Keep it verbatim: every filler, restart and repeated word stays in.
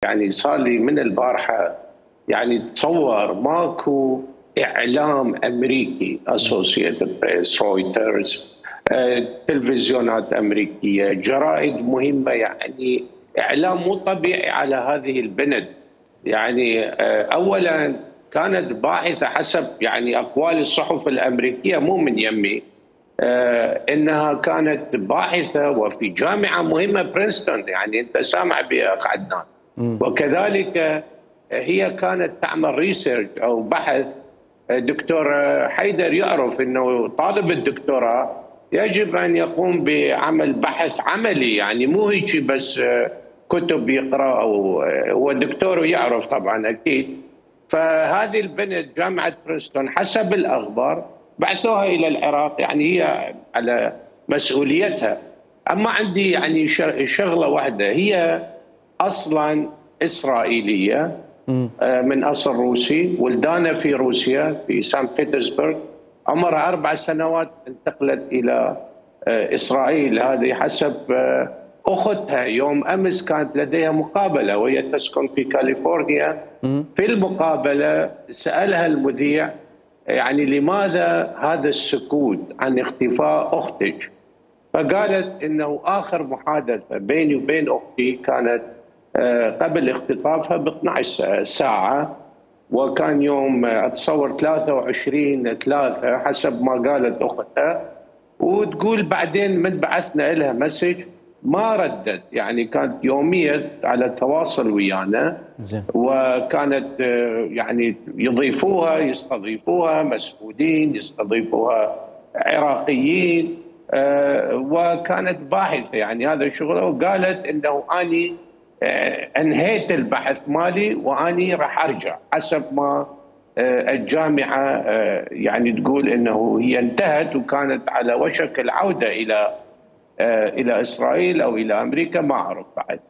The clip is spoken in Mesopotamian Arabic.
يعني صار لي من البارحه يعني تصور ماكو اعلام امريكي، اسوسييتد بريس، رويترز، تلفزيونات امريكيه، جرائد مهمه، يعني اعلام مو طبيعي على هذه البنت. يعني اولا كانت باحثه حسب يعني اقوال الصحف الامريكيه، مو من يمي، انها كانت باحثه وفي جامعه مهمه برينستون، يعني انت سامع بها عدنان. وكذلك هي كانت تعمل ريسيرش او بحث. دكتور حيدر يعرف انه طالب الدكتوراه يجب ان يقوم بعمل بحث عملي، يعني مو هيك بس كتب يقرا، او هو دكتور ويعرف طبعا اكيد. فهذه البنت جامعه برينستون حسب الاخبار بعثوها الى العراق، يعني هي على مسؤوليتها. اما عندي يعني شغله واحده، هي اصلا اسرائيليه من اصل روسي، ولدانه في روسيا في سان بطرسبرغ، عمرها اربع سنوات انتقلت الى اسرائيل. هذه حسب اختها. يوم امس كانت لديها مقابله وهي تسكن في كاليفورنيا. في المقابله سالها المذيع يعني لماذا هذا السكوت عن اختفاء اختك؟ فقالت انه اخر محادثه بيني وبين اختي كانت قبل اختطافها ب اثنعش ساعه، وكان يوم اتصور ثلاثة وعشرين ثلاثة حسب ما قالت اختها. وتقول بعدين من بعثنا لها مسج ما ردت، يعني كانت يوميا على تواصل ويانا. وكانت يعني يضيفوها يستضيفوها مسؤولين، يستضيفوها عراقيين، وكانت باحثه يعني هذا شغله. وقالت انه اني انهيت البحث مالي واني راح ارجع، حسب ما الجامعه يعني تقول انه هي انتهت وكانت على وشك العوده الى الى اسرائيل او الى امريكا، ما اعرف بعد.